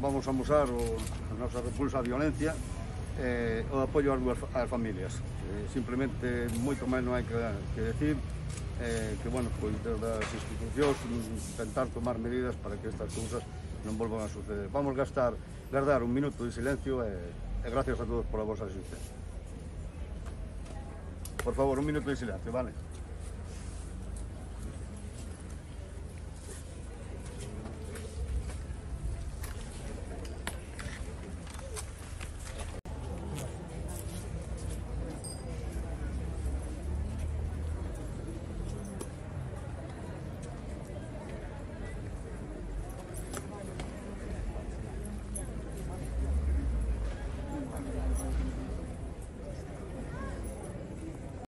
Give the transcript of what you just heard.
vamos a amosar a nosa repulsa á violencia e o apoio ás familias. Simplemente, moito máis non hai que decir, que, bueno, pois desde as institucións intentar tomar medidas para que estas cousas non volvan a suceder. Vamos guardar un minuto de silencio e gracias a todos pola vosa asistencia. Por favor, un minuto de silencio, vale?